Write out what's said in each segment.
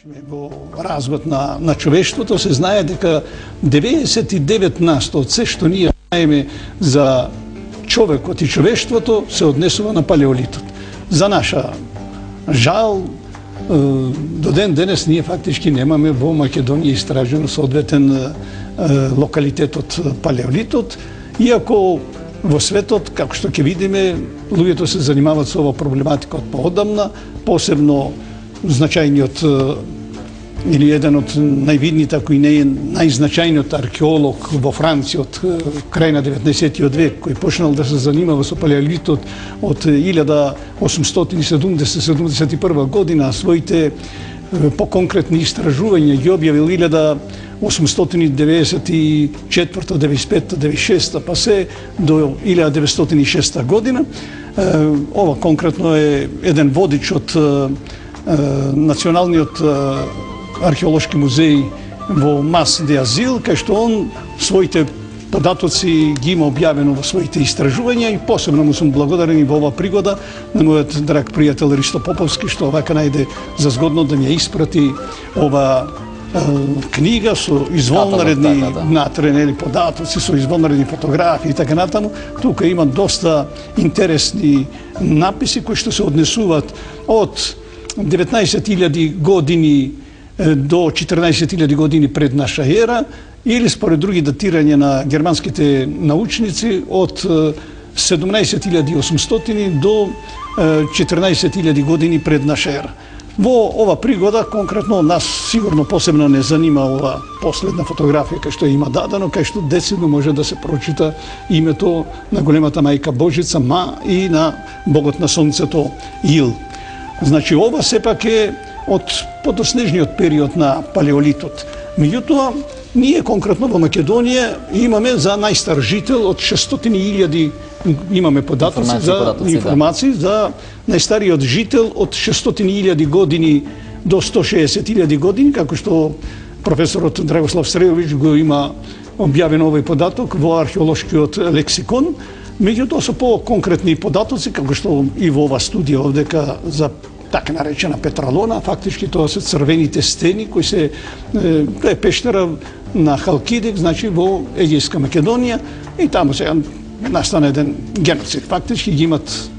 Во разгод на човештвото се знае дека 99% од се што ние знаеме за човекот и човештвото се однесува на палеолитот. За наша жал, до ден денес ние фактички немаме во Македонија истражено соодветен локалитет од палеолитот, иако во светот, како што ќе видиме, луѓето се занимаваат со ова проблематика од поодамна, посебно значајниот или еден од највидните, ако и не е најзначајниот археолог во Франција од крај на 19. век, кој почнал да се занимава со палеолитот од 1870-71 година, своите поконкретни истражувања ги објавил 1894, 95, 96, па се до 1906 година. Ова конкретно е еден водич од Националниот археолошки музеј во Мас де Азил, кај што он своите податоци ги има објавено во своите истражувања и посебно му сум благодарен и во ова пригода на мојот драг пријател Ристо Поповски, што вака најде за згодно да ми ја испрати ова книга со извонредни натренели податоци, со извонредни фотографии и така натаму. Тука има доста интересни написи кои што се однесуваат од 19.000 години до 14.000 години пред наша ера, или според други датирања на германските научници од 17.800 до 14.000 години пред наша ера. Во ова пригода, конкретно, нас сигурно посебно не занима ова последна фотографија кај што има дадено, кај што децидно може да се прочита името на големата мајка Божица Ма и на богот на сонцето Ил. Значи, ова сепак е од подоснежниот период на палеолитот. Меѓутоа, ние конкретно во Македонија имаме за најстар жител од 600.000, имаме податоци за информации за најстариот жител од 600.000 години до 160.000 години, како што професорот Драгослав Срејовиќ го има објавен овој податок во археолошкиот лексикон. Меѓутоа со по-конкретни податоци, како што и во ова студија овдека за така наречена Петралона, фактички тоа се црвените стени кои се е пештера на Халкидик, значи во Егејска Македонија, и таму се настана еден геноцид. Фактички ги имат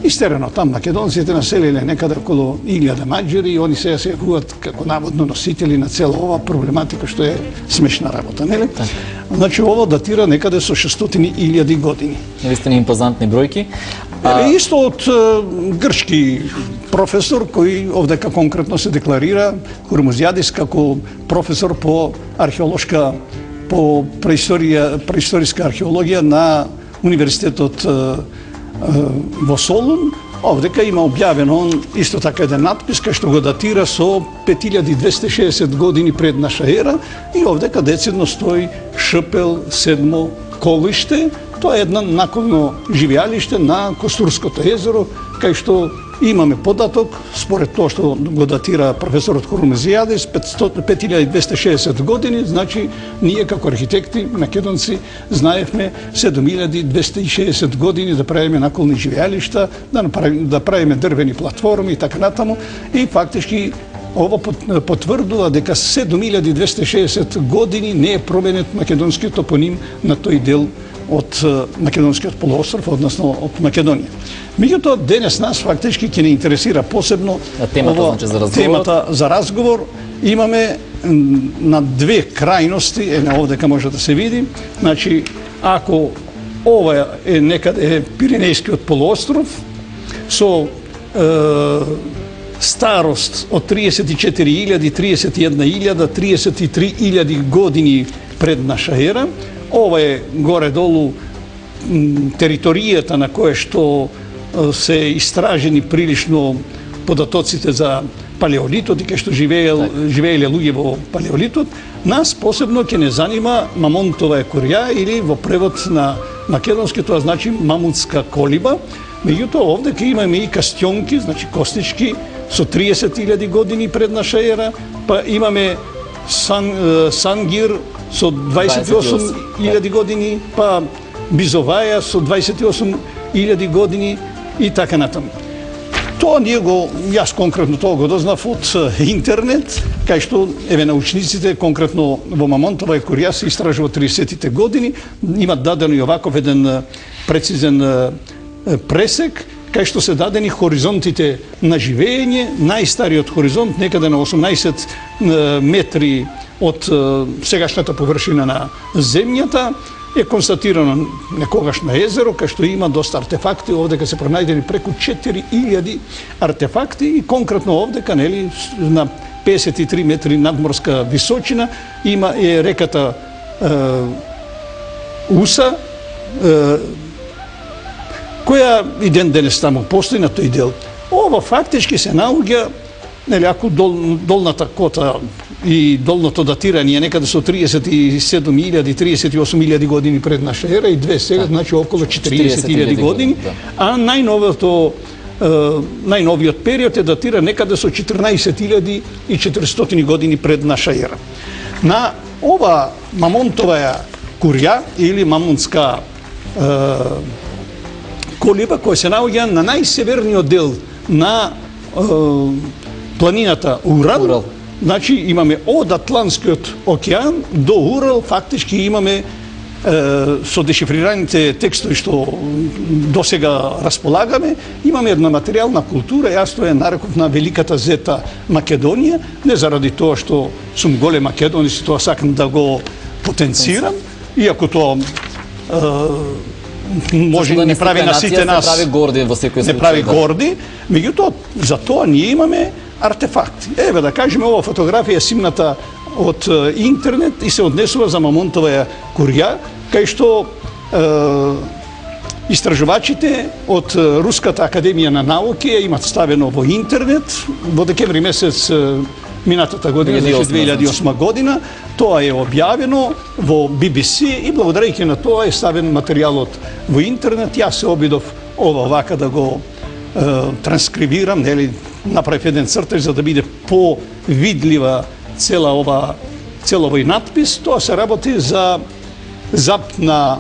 истерено там македонците, населиле некаде околу 1000 маѓари и они сега се јавуваат како наводно носители на цела ова проблематика, што е смешна работа, нели? Значи ово датира некаде со 600.000 години. Навистина импозантни бројки. Исто од грчки професор кој овдека конкретно се декларира, Хурмузијадис, како професор по археолошка, по преисториска археологија на Универзитетот во Солун. Овдека има објавено исто така еден надпис кај што го датира со 5260 години пред наша ера и овдека децидно стои Шпел 7 колиште. Тоа е едно наколно живеалиште на Костурското езеро, кај што имаме податок, според тоа што го датира професорот Хурмузијадис, 5260 години, значи ние како архитекти македонци знаевме 7260 години да правиме наколни живеалишта, да правиме дрвени платформи и така натаму, и фактички ова потврдува дека 7260 години не е променет македонскиот топоним на тој дел од македонскиот полуостров, односно од Македонија. Меѓутоа, денес нас фактички ќе не интересира посебно темата за разговор. Имаме на две крајности, овдека може да се види, значи, ако ова е некаде Пиренејскиот полуостров, со старост од 34.000, 31.000, 33.000 години пред наша ера, ова е горе-долу територијата на која што се истражени прилично податоците за палеолитот и кај што живееле луѓе во палеолитот. Нас посебно ќе не занима Мамонтова екорија, или во превод на македонски тоа значи мамутска колиба. Меѓутоа овде имаме и кастионки, значи костички, со 30.000 години пред наша ера, па имаме Сангир со 28.000 години, па Бизоваја со 28.000 години и така натаму. Тоа јас конкретно тоа го дознав од интернет, кај што научниците конкретно во Мамонтова и Курија се истражуваат 30-тите години, имат дадено и оваков еден прецизен пресек, кај што се дадени хоризонтите на живење, најстариот хоризонт некаде на 18 метри од сегашната површина на земјата, е констатирано некогаш на езеро, кај што има доста артефакти, овдека се пронајдени преку 4000 артефакти и конкретно овдека, нели, на 53 метри надморска височина има реката Уса, која и ден денес таму постои на тој дел. Ова фактички се наоѓа, нели, ако долната кота и долното датирање некаде со 37.000, 38.000 години пред наша ера и две сега, значи околу 40.000 години, а најновиот период е датира некаде со 14.400 години пред наша ера. На ова Мамонтова Курја или Мамонтска колиба, која се наоѓа на најсеверниот дел на планината Урал. Значи имаме од Атлантскиот океан до Урал, фактички имаме со дешифрираните текстови што досега располагаме, имаме една материјална култура, јас тоа ја нареков на Великата Зета Македонија, не заради тоа што сум голем македонец и тоа сакам да го потенцирам, иако тоа може да не прави на сите нас, не прави горди во секој случај. Не прави горди, меѓутоа за тоа ние имаме артефакти. Еве да кажеме, ова фотографија симната од интернет и се однесува за Мамонтова Курја, кај што истражувачите од Руската академија на науки имат ставено во интернет во декември месец минатата година, 2008 година. Тоа е објавено во BBC и благодарејќи на тоа е ставен материјалот во интернет. Јас се обидов ова вака да го транскрибирам, нели, направив еден цртеж за да биде повидлива цел овој надпис. Тоа се работи за зап на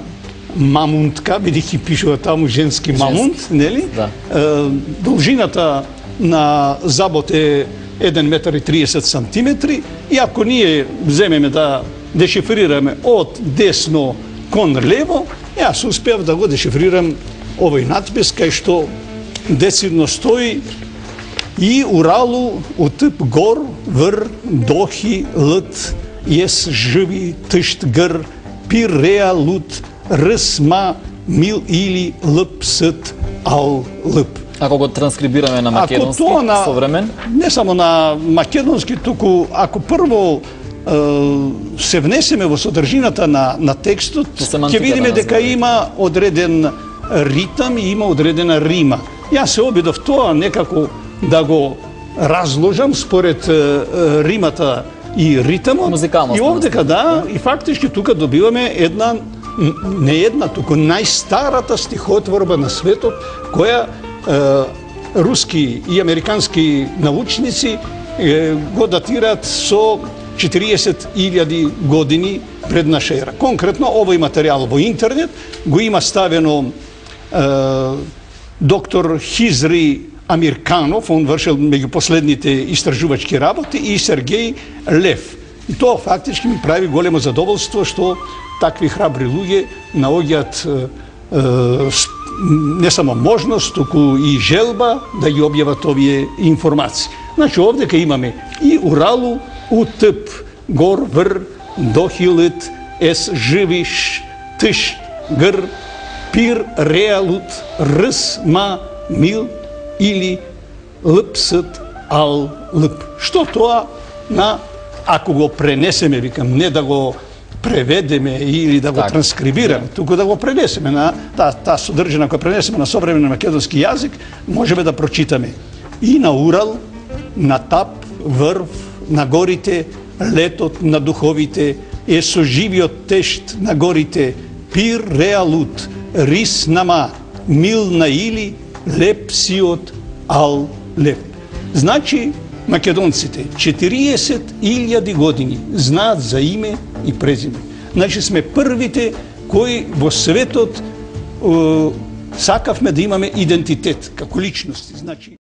мамунтка, бидејќи пишува таму женски мамунт, нели? Должината на забот е 1 метар и 30 сантиметри и ако ние земеме да дешифрираме од десно кон лево, јас успеав да го дешифрирам овој надпис кај што децидно стои и Уралу утып гор вр дохи лт ес живи тышт гр пир реа лут рсма мил или лп ст ал лп. Ако го транскрибираме на македонски современ? Не само на македонски, туку ако прво се внесеме во содржината на текстот, ќе видиме дека има одреден ритам и има одредена рима. Јас се обидов тоа некако да го разложам според римата и ритамот. И овдека и фактички тука добиваме не една, туку најстарата стихотворба на светот, која руски и американски научници го датираат со 40.000 години пред наша ера. Конкретно овој материјал во интернет го има ставено доктор Хизри Амирканов, он вршил меѓу последните истражувачки работи, и Сергеј Лев. И тоа фактички ми прави големо задоволство што такви храбри луѓе наоѓаат не само можност, туку и желба да ги објават овие информации. Значи, овдека имаме и Уралу, утп, гор, вр, дохилит, ес, живиш, тыш, гр, пир, реалут, рс, ма, мил или лпст, ал, лп. Што тоа ако го пренесеме, викам, не да го преведеме или да го транскрибираме, туку да го пренесеме на таа содржина која пренесеме на современ македонски јазик, можеме да прочитаме и на Урал, на Тап, Врв, на горите, летот на духовите, е со живиот тешт на горите, пир реалут, рис нама, мил на или, леп сиот, ал леп. Значи, македонците 40.000 години знаат за име и презиме. Значи сме првите кои во светот сакавме да имаме идентитет како личности. Значи